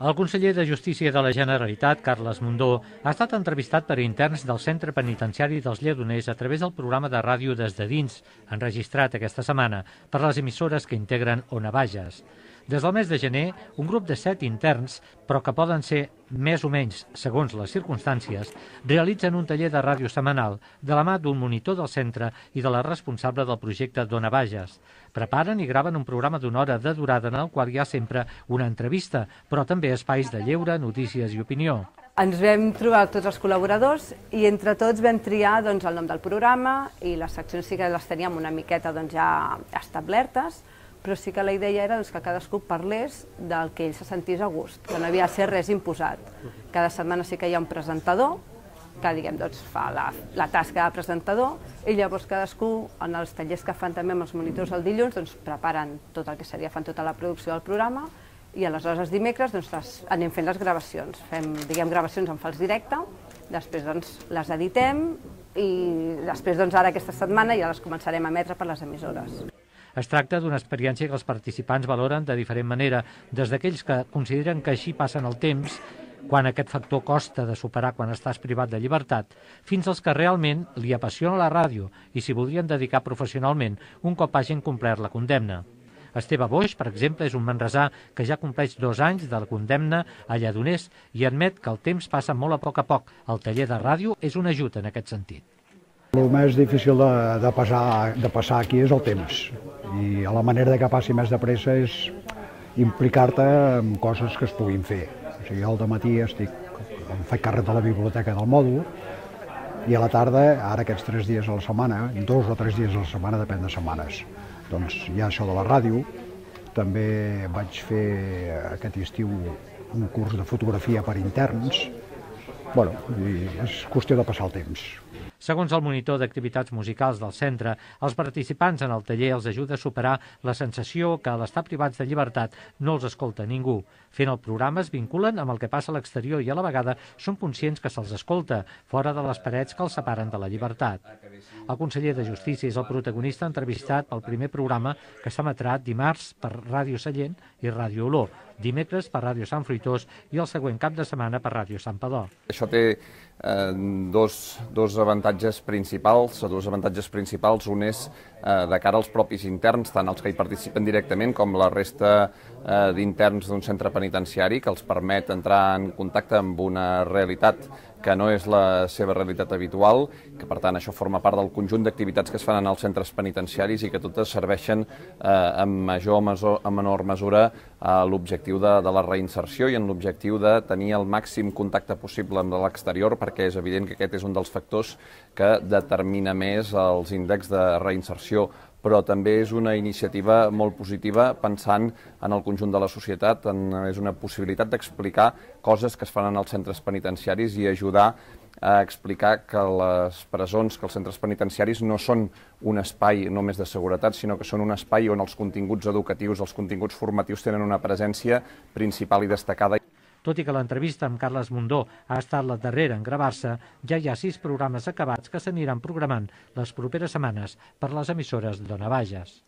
El conseller de Justícia de la Generalitat, Carles Mundó, ha estat entrevistat per interns del Centre Penitenciari dels Lledoners a través del programa de ràdio Des de Dins, enregistrat aquesta setmana per les emissores que integren Ona Bages. Des del mes de gener, un grup de 7 interns, però que poden ser més o menys segons les circumstàncies, realitzen un taller de ràdio setmanal de la mà d'un monitor del centre i de la responsable del projecte d'Ona Bages. Preparen i graven un programa d'una hora de durada en el qual hi ha sempre una entrevista, però també espais de lleure, notícies i opinió. Ens vam trobar tots els col·laboradors i entre tots vam triar el nom del programa i les seccions sí que les teníem una miqueta ja establertes, però sí que la idea era que cadascú parlés del que ell se sentís a gust, que no havia de ser res imposat. Cada setmana sí que hi ha un presentador que fa la tasca de presentador i llavors cadascú, en els tallers que fan també amb els monitors el dilluns, preparen tot el que seria, fan tota la producció del programa i aleshores els dimecres anem fent les gravacions. Fem gravacions en fals directe, després les editem i després ara aquesta setmana ja les començarem a emetre per les emissores. Es tracta d'una experiència que els participants valoren de diferent manera, des d'aquells que consideren que així passen el temps, quan aquest factor costa de superar quan estàs privat de llibertat, fins als que realment li apassiona la ràdio i s'hi voldrien dedicar professionalment un cop hagin complert la condemna. Esteve Boix, per exemple, és un manresà que ja compleix 2 anys de la condemna a Lledoners i admet que el temps passa molt a poc. El taller de ràdio és un ajut en aquest sentit. El més difícil de passar aquí és el temps i la manera que passi més de pressa és implicar-te en coses que es puguin fer. O sigui, al dematí em faig càrrec de la biblioteca del mòdul i a la tarda, ara aquests 3 dies a la setmana, 2 o 3 dies a la setmana, depèn de setmanes, doncs hi ha això de la ràdio. També vaig fer aquest estiu un curs de fotografia per interns. Bueno, és qüestió de passar el temps. Segons el monitor d'activitats musicals del centre, els participants en el taller els ajuda a superar la sensació que a l'estar privats de llibertat no els escolta ningú. Fent el programa es vinculen amb el que passa a l'exterior i a la vegada són conscients que se'ls escolta, fora de les parets que els separen de la llibertat. El conseller de Justícia és el protagonista entrevistat pel primer programa que s'emetrà dimarts per Ràdio Sallent i Ràdio Olor, dimecres per Ràdio Sant Fruitós i el següent cap de setmana per Ràdio Sant Padó. Això té dos avantatges principals. Un és de cara als propis interns, tant els que hi participen directament com la resta d'interns d'un centre penitenciari, que els permet entrar en contacte amb una realitat que no és la seva realitat habitual, que per tant això forma part del conjunt d'activitats que es fan en els centres penitenciaris i que totes serveixen en major o menor mesura a l'objectiu de la reinserció i en l'objectiu de tenir el màxim contacte possible amb l'exterior, perquè és evident que aquest és un dels factors que determina més els índexs de reinserció, però també és una iniciativa molt positiva pensant en el conjunt de la societat, és una possibilitat d'explicar coses que es fan en els centres penitenciaris i ajudar a explicar que les presons, que els centres penitenciaris no són un espai només de seguretat, sinó que són un espai on els continguts educatius, els continguts formatius tenen una presència principal i destacada. Tot i que l'entrevista amb Carles Mundó ha estat la darrera en gravar-se, ja hi ha 6 programes acabats que s'aniran programant les properes setmanes per les emissores d'Ona Bages.